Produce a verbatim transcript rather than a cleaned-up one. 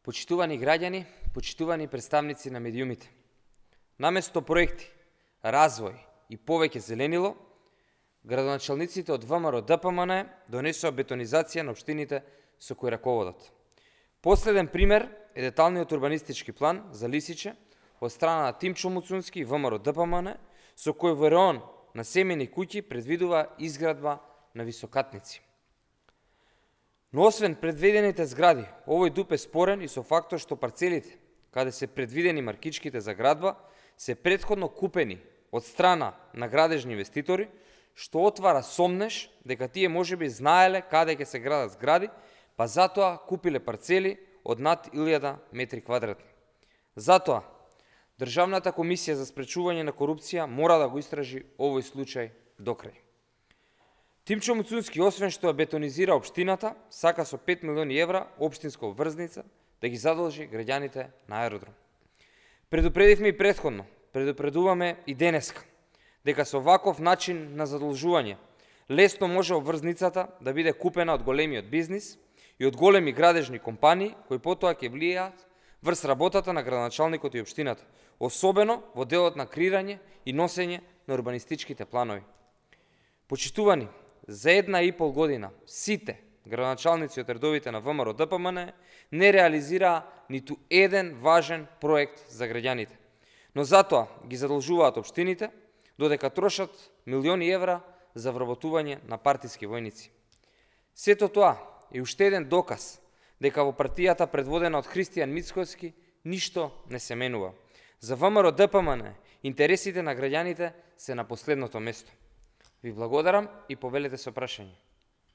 Почитувани граѓани, почитувани представници на медиумите. Наместо проекти, развој и повеќе зеленило, градоначалниците од ВМРО Д П М Н донесоа бетонизација на општините со кои раководат. Последен пример е деталниот урбанистички план за Лисиче од страна на Тимчо Муцунски и ВМРО Д П М Н, со кој ВРОН на семени куќи предвидува изградба на високатници. Но освен предвидените згради, овој дуп е спорен и со фактот што парцелите, каде се предвидени маркичките за градба, се претходно купени од страна на градежни инвеститори, што отвара сомнеш дека тие можеби знаеле каде ќе се градат згради, па затоа купиле парцели од над илјада метри квадратни. Затоа, Државната комисија за спречување на корупција мора да го истражи овој случај до крај. Тимчо Муцунски, освен што ја бетонизира општината, сака со пет милиони евра општинска обврзница да ги задолжи граѓаните на аеродром. Предупредивме и претходно, предупредуваме и денеска, дека со ваков начин на задолжување лесно може обврзницата да биде купена од големиот бизнис и од големи градежни компании кои потоа ќе влијаат врз работата на градоначалникот и општината, особено во делот на креирање и носење на урбанистичките планови. Почитувани, за една и пол година сите градоначалници од редовите на ВМРО Д П М Н не реализираа ниту еден важен проект за граѓаните, но затоа ги задолжуваат општините, додека трошат милиони евра за вработување на партиски војници. Сето тоа е уште еден доказ дека во партијата предводена од Христијан Мицкоски ништо не се менува. За ВМРО Д П М Н интересите на граѓаните се на последното место. Ви благодарам и повелете со прашање.